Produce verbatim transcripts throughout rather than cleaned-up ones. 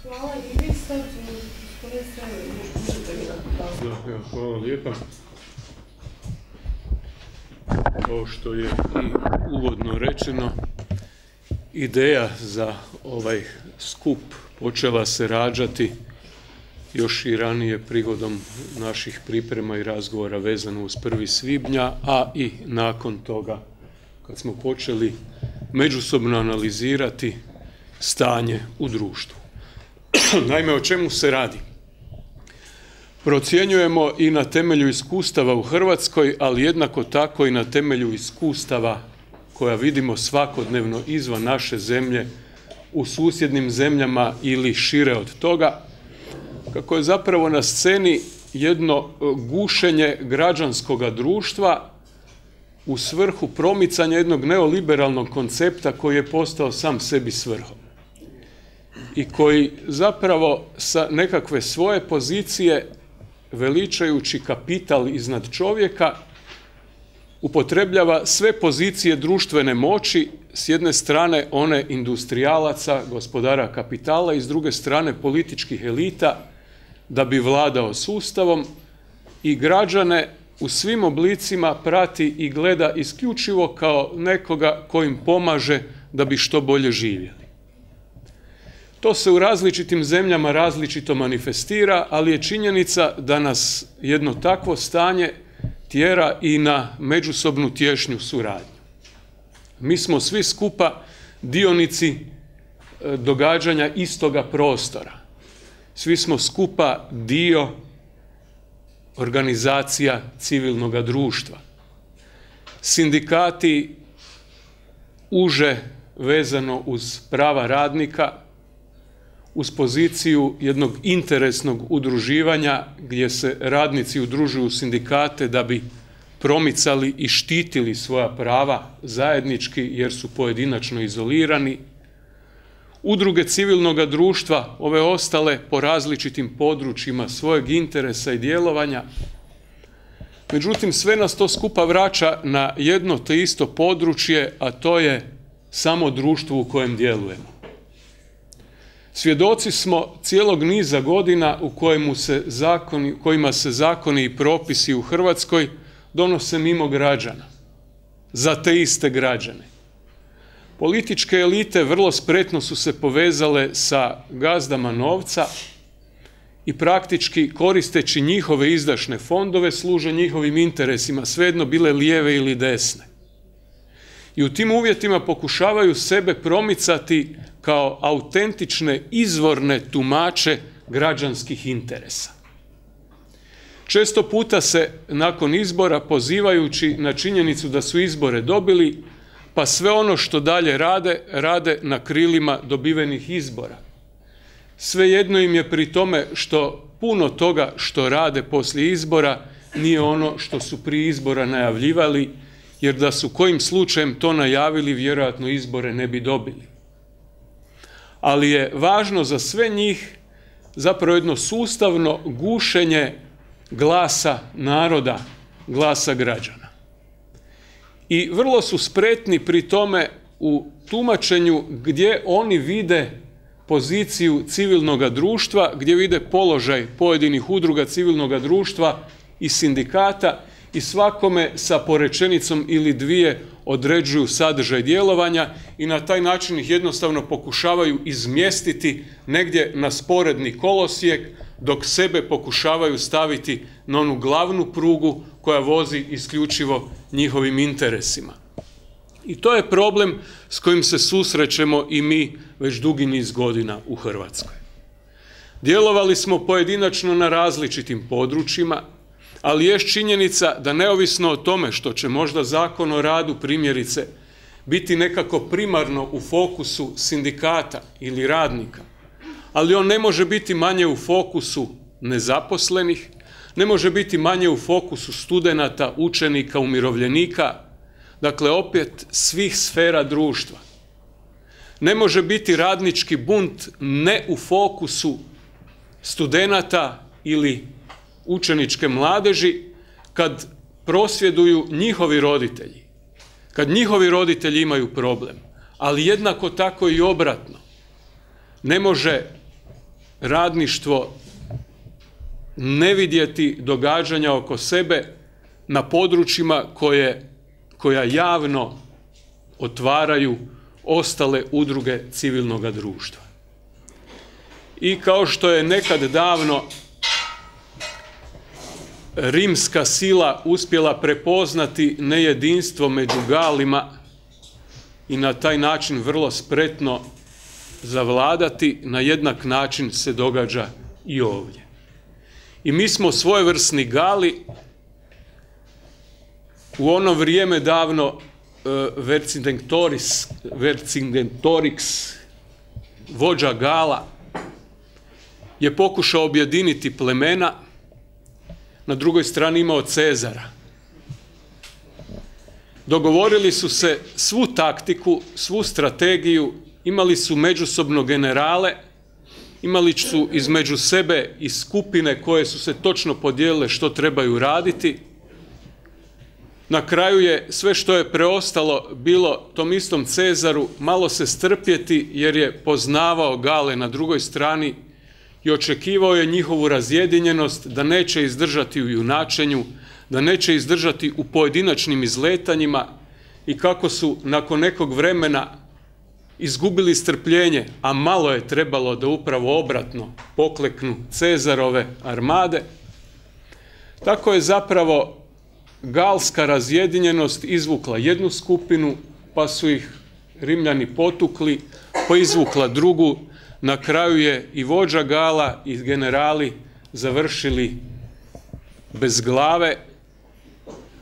Hvala i vi sad gospodine možete mi da... Hvala lijepa. Ovo što je i uvodno rečeno, ideja za ovaj skup počela se rađati još i ranije prigodom naših priprema i razgovora vezano uz prvi svibnja, a i nakon toga kad smo počeli međusobno analizirati stanje u društvu. Naime, o čemu se radi? Procjenjujemo i na temelju iskustava u Hrvatskoj, ali jednako tako i na temelju iskustava koja vidimo svakodnevno izvan naše zemlje, u susjednim zemljama ili šire od toga, kako je zapravo na sceni jedno gušenje građanskog društva u svrhu promicanja jednog neoliberalnog koncepta koji je postao sam sebi svrhom i koji zapravo sa nekakve svoje pozicije, veličajući kapital iznad čovjeka, upotrebljava sve pozicije društvene moći, s jedne strane one industrijalaca, gospodara kapitala, i s druge strane političkih elita, da bi vladao sustavom, i građane u svim oblicima prati i gleda isključivo kao nekoga ko im pomaže da bi što bolje živjeli. To se u različitim zemljama različito manifestira, ali je činjenica da nas jedno takvo stanje tjera i na međusobnu tješnju suradnju. Mi smo svi skupa dionici događanja istoga prostora. Svi smo skupa dio organizacija civilnog društva. Sindikati uže vezano uz prava radnika, uz poziciju jednog interesnog udruživanja gdje se radnici udružuju u sindikate da bi promicali i štitili svoja prava zajednički jer su pojedinačno izolirani. Udruge civilnog društva, ove ostale po različitim područjima svojeg interesa i djelovanja. Međutim, sve nas to skupa vraća na jedno te isto područje, a to je samo društvo u kojem djelujemo. Svjedoci smo cijelog niza godina u kojemu se zakoni, kojima se zakoni i propisi u Hrvatskoj donose mimo građana, za te iste građane. Političke elite vrlo spretno su se povezale sa gazdama novca i praktički koristeći njihove izdašne fondove služe njihovim interesima, svejedno bile lijeve ili desne. I u tim uvjetima pokušavaju sebe promicati kao autentične izvorne tumače građanskih interesa. Često puta se nakon izbora, pozivajući na činjenicu da su izbore dobili, pa sve ono što dalje rade, rade na krilima dobivenih izbora. Svejedno im je pri tome što puno toga što rade poslije izbora nije ono što su prije izbora najavljivali, jer da su kojim slučajem to najavili, vjerojatno izbore ne bi dobili. Ali je važno za sve njih zapravo jedno sustavno gušenje glasa naroda, glasa građana. I vrlo su spretni pri tome u tumačenju gdje oni vide poziciju civilnog društva, gdje vide položaj pojedinih udruga civilnog društva i sindikata, i svakome sa porečenicom ili dvije određuju sadržaj djelovanja i na taj način ih jednostavno pokušavaju izmjestiti negdje na sporedni kolosijek, dok sebe pokušavaju staviti na onu glavnu prugu koja vozi isključivo njihovim interesima. I to je problem s kojim se susrećemo i mi već dugi niz godina u Hrvatskoj. Djelovali smo pojedinačno na različitim područjima, ali je činjenica da neovisno o tome što će možda Zakon o radu, primjerice, biti nekako primarno u fokusu sindikata ili radnika, ali on ne može biti manje u fokusu nezaposlenih, ne može biti manje u fokusu studenata, učenika, umirovljenika, dakle opet svih sfera društva. Ne može biti radnički bunt ne u fokusu studenata ili učeničke mladeži kad prosvjeduju njihovi roditelji, kad njihovi roditelji imaju problem, ali jednako tako i obratno. Ne može radništvo, ne vidjeti događanja oko sebe na područjima koje, koja javno otvaraju ostale udruge civilnog društva. I kao što je nekad davno rimska sila uspjela prepoznati nejedinstvo među Galima i na taj način vrlo spretno zavladati, na jednak način se događa i ovdje. I mi smo svojevrsni Gali, u ono vrijeme davno Vercingetorix, Vercingetorix, vođa Gala, je pokušao objediniti plemena, na drugoj strani imao Cezara. Dogovorili su se svu taktiku, svu strategiju, imali su međusobno generale, imali su između sebe i skupine koje su se točno podijelile što trebaju raditi. Na kraju je sve što je preostalo bilo tom istom Cezaru malo se strpjeti, jer je poznavao Gale na drugoj strani i očekivao je njihovu razjedinjenost, da neće izdržati u junačenju, da neće izdržati u pojedinačnim izletanjima, i kako su nakon nekog vremena izgubili strpljenje, a malo je trebalo da upravo obratno pokleknu Cezarove armade, tako je zapravo galska razjedinjenost izvukla jednu skupinu, pa su ih Rimljani potukli, pa izvukla drugu. Na kraju je i vođa Gala i generali završili bez glave,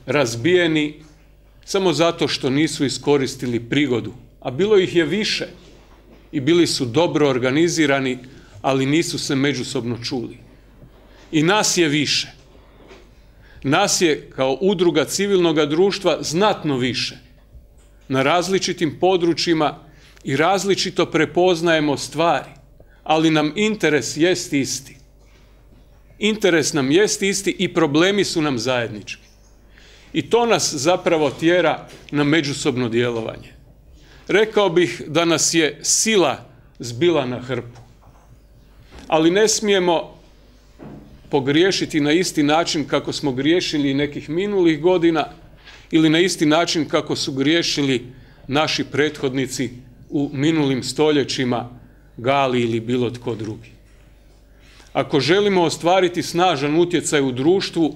razbijeni, samo zato što nisu iskoristili prigodu. A bilo ih je više i bili su dobro organizirani, ali nisu se međusobno čuli. I nas je više. Nas je kao udruga civilnog društva znatno više. Na različitim područjima i različito prepoznajemo stvari, ali nam interes jest isti. Interes nam jest isti i problemi su nam zajednički. I to nas zapravo tjera na međusobno djelovanje. Rekao bih da nas je sila zbila na hrpu. Ali ne smijemo pogriješiti na isti način kako smo griješili nekih minulih godina, ili na isti način kako su griješili naši prethodnici u minulim stoljećima, Gali ili bilo tko drugi. Ako želimo ostvariti snažan utjecaj u društvu,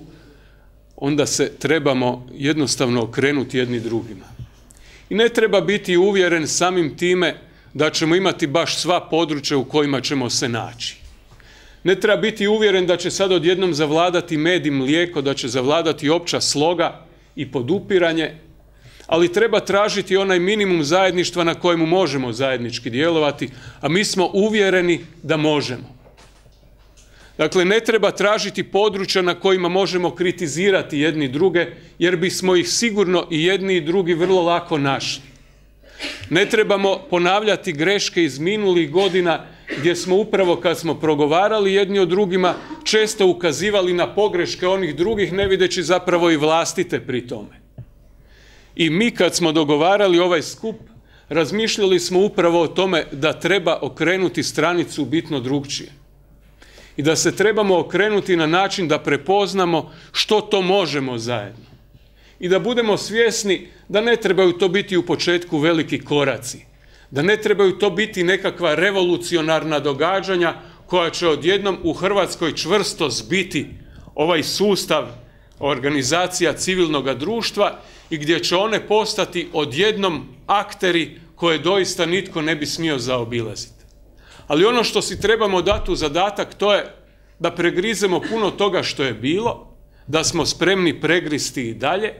onda se trebamo jednostavno okrenuti jedni drugima. I ne treba biti uvjeren samim time da ćemo imati baš sva područja u kojima ćemo se naći. Ne treba biti uvjeren da će sad odjednom zavladati med i mlijeko, da će zavladati opća sloga i podupiranje, ali treba tražiti onaj minimum zajedništva na kojemu možemo zajednički djelovati, a mi smo uvjereni da možemo. Dakle, ne treba tražiti područja na kojima možemo kritizirati jedni druge, jer bismo ih sigurno i jedni i drugi vrlo lako našli. Ne trebamo ponavljati greške iz minulih godina, gdje smo upravo kad smo progovarali jedni o drugima često ukazivali na pogreške onih drugih, ne videći zapravo i vlastite pri tome. I mi kad smo dogovarali ovaj skup, razmišljali smo upravo o tome da treba okrenuti stranicu bitno drugčije. I da se trebamo okrenuti na način da prepoznamo što to možemo zajedno. I da budemo svjesni da ne trebaju to biti u početku veliki koraci. Da ne trebaju to biti nekakva revolucionarna događanja koja će odjednom u Hrvatskoj čvrsto zbiti ovaj sustav organizacija civilnog društva i gdje će one postati odjednom akteri koje doista nitko ne bi smio zaobilaziti. Ali ono što si trebamo dati u zadatak, to je da pregrizemo puno toga što je bilo, da smo spremni pregristi i dalje,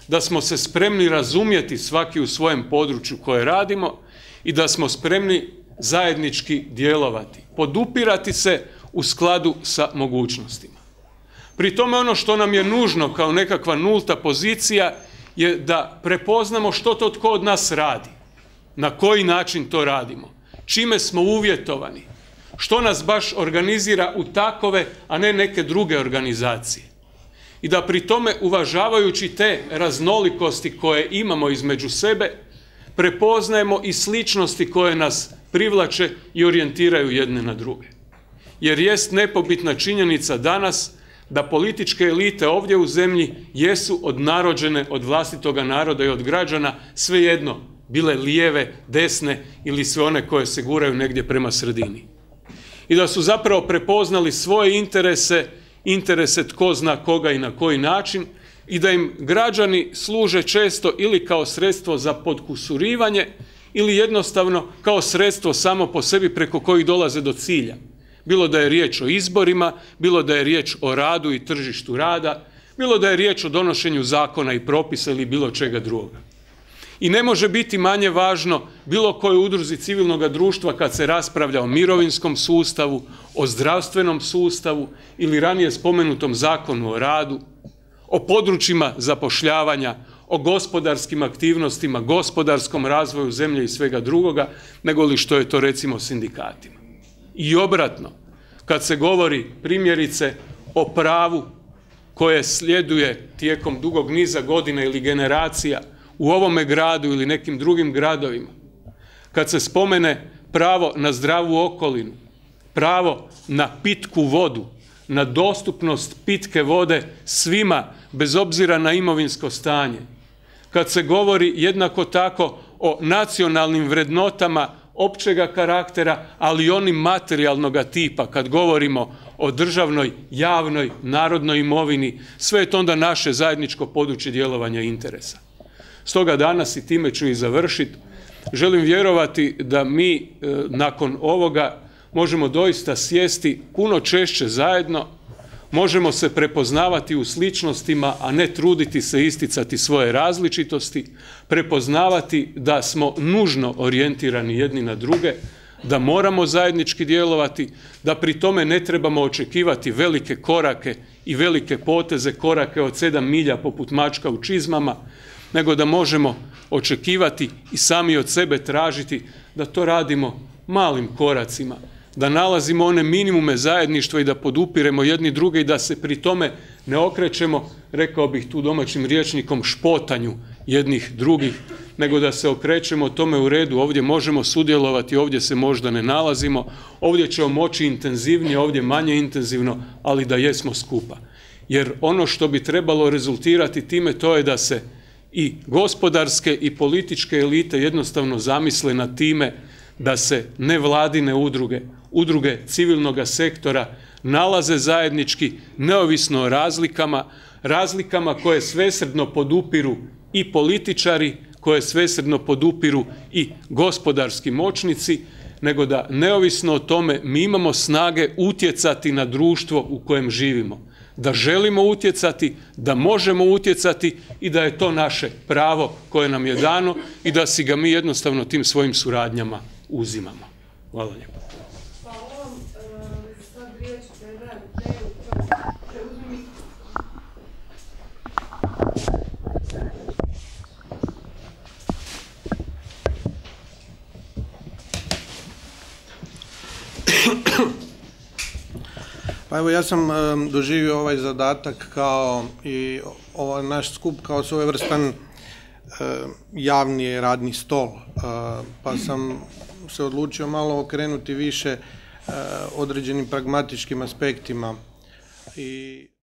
da smo se spremni razumjeti svaki u svojem području koje radimo i da smo spremni zajednički djelovati, podupirati se u skladu sa mogućnostima. Pri tome ono što nam je nužno kao nekakva nulta pozicija je da prepoznamo što to tko od nas radi, na koji način to radimo, čime smo uvjetovani, što nas baš organizira u takove, a ne neke druge organizacije. I da pri tome, uvažavajući te raznolikosti koje imamo između sebe, prepoznajemo i sličnosti koje nas privlače i orijentiraju jedne na druge. jer jest nepobitna činjenica danas da političke elite ovdje u zemlji jesu odnarođene od vlastitoga naroda i od građana, svejedno, bile lijeve, desne ili sve one koje se guraju negdje prema sredini. I da su zapravo prepoznali svoje interese, interese tko zna koga i na koji način, i da im građani služe često ili kao sredstvo za podkusurivanje ili jednostavno kao sredstvo samo po sebi preko kojih dolaze do cilja. Bilo da je riječ o izborima, bilo da je riječ o radu i tržištu rada, bilo da je riječ o donošenju zakona i propisa ili bilo čega drugoga. I ne može biti manje važno bilo kojoj udruzi civilnog društva kad se raspravlja o mirovinskom sustavu, o zdravstvenom sustavu ili ranije spomenutom zakonu o radu, o područjima zapošljavanja, o gospodarskim aktivnostima, gospodarskom razvoju zemlje i svega drugoga, nego li što je to recimo sindikatima. I obratno, kad se govori primjerice o pravu koje sljeduje tijekom dugog niza godina ili generacija u ovome gradu ili nekim drugim gradovima, kad se spomene pravo na zdravu okolinu, pravo na pitku vodu, na dostupnost pitke vode svima bez obzira na imovinsko stanje, kad se govori jednako tako o nacionalnim vrednotama općega karaktera, ali i onim materijalnoga tipa, kad govorimo o državnoj, javnoj, narodnoj imovini, sve je to onda naše zajedničko područje djelovanja i interesa. Stoga danas, i time ću i završiti, želim vjerovati da mi e, nakon ovoga možemo doista sjesti puno češće zajedno, možemo se prepoznavati u sličnostima, a ne truditi se isticati svoje različitosti, prepoznavati da smo nužno orijentirani jedni na druge, da moramo zajednički djelovati, da pri tome ne trebamo očekivati velike korake i velike poteze, korake od sedam milja poput mačka u čizmama, nego da možemo očekivati i sami od sebe tražiti da to radimo malim koracima, da nalazimo one minimume zajedništva i da podupiremo jedni druge i da se pri tome ne okrećemo, rekao bih tu domaćim rječnikom, špotanju jednih drugih, nego da se okrećemo tome u redu, ovdje možemo sudjelovati, ovdje se možda ne nalazimo, ovdje ćemo moći intenzivnije, ovdje manje intenzivno, ali da jesmo skupa. Jer ono što bi trebalo rezultirati time, to je da se i gospodarske i političke elite jednostavno zamisle nad time da se nevladine udruge, udruge civilnog sektora nalaze zajednički, neovisno o razlikama, razlikama koje svesrdno podupiru i političari, koje svesrdno podupiru i gospodarski moćnici, nego da neovisno o tome mi imamo snage utjecati na društvo u kojem živimo. Da želimo utjecati, da možemo utjecati i da je to naše pravo koje nam je dano i da si ga mi jednostavno tim svojim suradnjama uzimamo. Hvala lijepo. Hvala vam. Sad riječ predajem Teju. Preuzmi mikrofon. Pa evo, ja sam um, doživio ovaj zadatak kao i ovaj naš skup kao svojevrstan uh, javni radni stol, uh, pa sam se odlučio malo okrenuti više uh, određenim pragmatičkim aspektima i